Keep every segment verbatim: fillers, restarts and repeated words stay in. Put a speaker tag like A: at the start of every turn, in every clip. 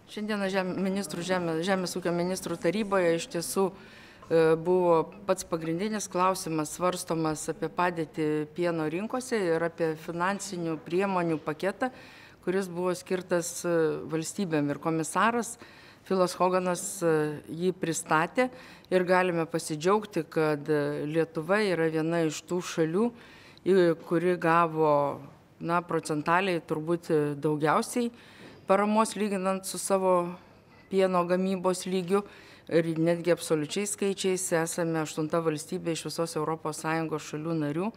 A: Šiandieną žem, ministrų, žemė, Žemės ūkio ministrų taryboje iš tiesų e, buvo pats pagrindinis klausimas svarstomas apie padėtį pieno rinkose ir apie finansinių priemonių paketą, kuris buvo skirtas valstybėm, ir komisaras Filas Hoganas jį pristatė ir galime pasidžiaugti, kad Lietuva yra viena iš tų šalių, kuri gavo na, procentaliai turbūt daugiausiai paramos lyginant su savo pieno gamybos lygiu, ir netgi absoliučiais skaičiais esame aštunta valstybė iš visos Europos Sąjungos šalių narių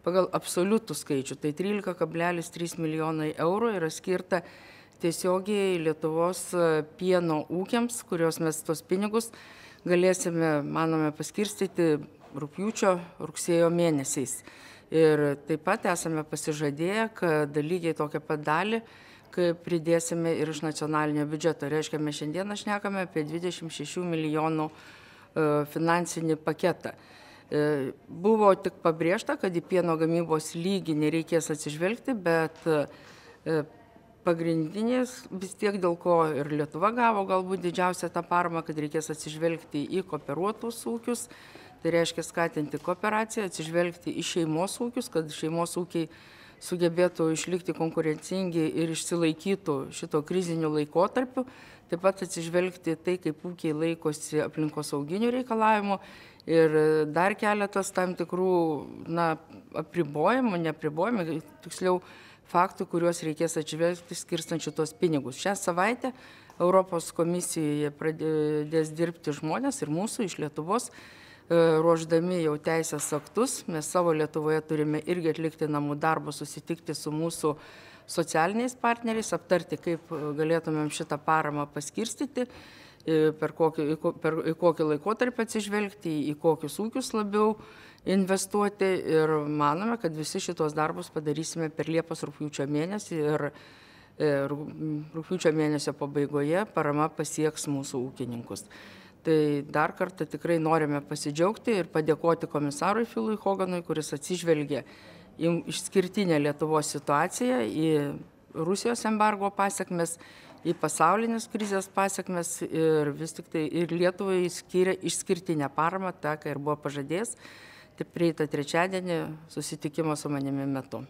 A: pagal absoliutų skaičių. Tai trylika kablelis trys milijonai eurų yra skirta tiesiogiai Lietuvos pieno ūkiams, kurios mes tos pinigus galėsime, manome, paskirstyti rugpjūčio, rugsėjo mėnesiais. Ir taip pat esame pasižadėję, kad lygiai tokią pat dalį, kai pridėsime ir iš nacionalinio biudžeto. Reiškia, mes šiandieną šnekame apie dvidešimt šešių milijonų finansinį paketą. Buvo tik pabrėžta, kad į pieno gamybos lygį nereikės atsižvelgti, bet pagrindinės vis tiek, dėl ko ir Lietuva gavo galbūt didžiausią tą paramą, kad reikės atsižvelgti į kooperuotus ūkius. Tai reiškia skatinti kooperaciją, atsižvelgti į šeimos ūkius, kad šeimos ūkiai sugebėtų išlikti konkurencingi ir išsilaikytų šito krizinių laikotarpių. Taip pat atsižvelgti tai, kaip ūkiai laikosi aplinkosauginių reikalavimų ir dar keletas tam tikrų na, apribojimų, neapribojimų, tiksliau faktų, kuriuos reikės atsižvelgti skirstant šitos pinigus. Šią savaitę Europos komisijoje pradės dirbti žmonės ir mūsų iš Lietuvos, ruoždami jau teisės aktus. Mes savo Lietuvoje turime irgi atlikti namų darbą, susitikti su mūsų socialiniais partneriais, aptarti, kaip galėtumėm šitą paramą paskirstyti, per kokį, per kokį laikotarpį atsižvelgti, į kokius ūkius labiau investuoti, ir manome, kad visi šitos darbus padarysime per Liepos rugpjūčio mėnesį, ir rugpjūčio mėnesio pabaigoje parama pasieks mūsų ūkininkus. Tai dar kartą tikrai norime pasidžiaugti ir padėkoti komisarui Filui Hoganui, kuris atsižvelgė į išskirtinę Lietuvos situaciją, į Rusijos embargo pasiekmes, į pasaulinės krizės pasiekmes, ir vis tik tai ir Lietuvai skyrė išskirtinę paramą, tą, ką ir buvo pažadėjęs, tai prieitą trečiadienį susitikimo su manimi metu.